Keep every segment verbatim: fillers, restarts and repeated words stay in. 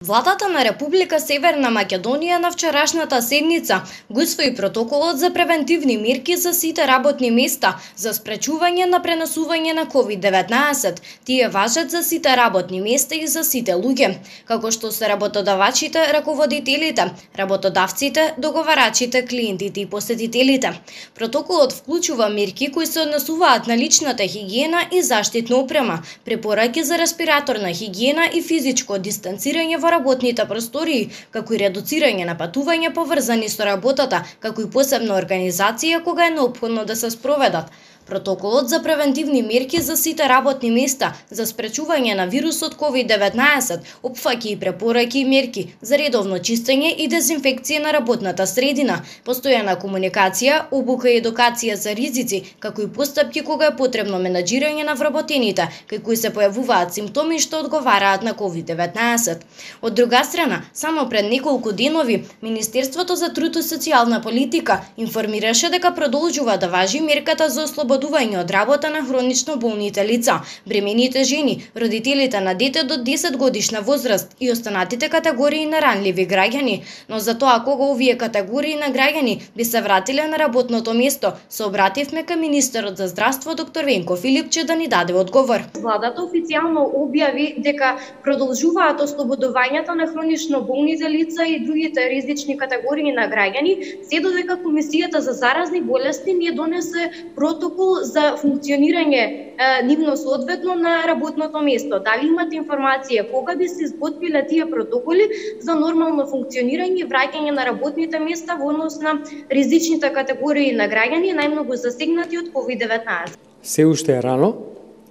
Владата на Република Северна Македонија на вчерашната седница го усвои протоколот за превентивни мерки за сите работни места за спречување на пренесување на ковид деветнаесет. Тие важат за сите работни места и за сите луѓе, како што се работодавачите, раководителите, работодавците, договарачите, клиентите и посетителите. Протоколот вклучува мерки кои се однесуваат на личната хигиена и заштитна опрема, препораки за респираторна хигиена и физичко дистанцирање во работните простории, како и редуцирање на патување поврзани со работата, како и посебна организација кога е неопходно да се спроведат. Протоколот за превентивни мерки за сите работни места за спречување на вирусот ковид деветнаесет опфаќа и препораки и мерки за редовно чистење и дезинфекција на работната средина, постојана комуникација, обука и едукација за ризици, како и постапки кога е потребно менаџирање на вработените, кај кои се појавуваат симптоми што одговараат на ковид деветнаесет. Од друга страна, само пред неколку денови, Министерството за труд и социјална политика информираше дека продолжува да важи мерката за ослободување од работа на хронично болните лица, бремените жени, родителите на дете до десет годишна возраст и останатите категории на ранливи граѓани, но за тоа кога овие категории на граѓани би се вратиле на работното место, се обративме кај министерот за здравство доктор Венко Филипче да ни даде одговор. Владата официјално објави дека продолжуваат ослободувањата на хронично болните лица и другите ризични категории на граѓани, се додека Комисијата за заразни болести не донесе протокол за функционирање е, нивно соодветно на работното место. Дали имате информација кога би се изготвиле тие протоколи за нормално функционирање и враќање на работните места во однос на ризичните категории на граѓани, најмногу засегнати од ковид деветнаесет? Се уште е рано,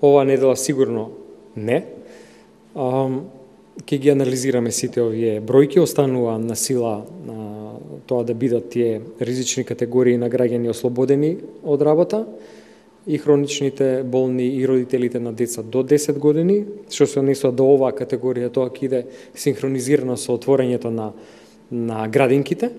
ова недела сигурно не. Um, Ке ги анализираме сите овие бројки, останува на сила на тоа да бидат тие ризични категории на граѓани ослободени од работа и хроничните болни и родителите на деца до десет години, што се однесува до оваа категорија, тоа ќе иде синхронизирано со отворањето на на градинките,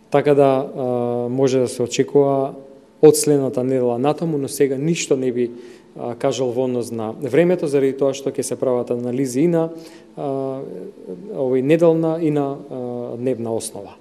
така да а, може да се очекува од следната недела натаму, но сега ништо не би а, кажал во однос на времето, заради тоа што ќе се прават анализи и на а, овој неделна и на а, дневна основа.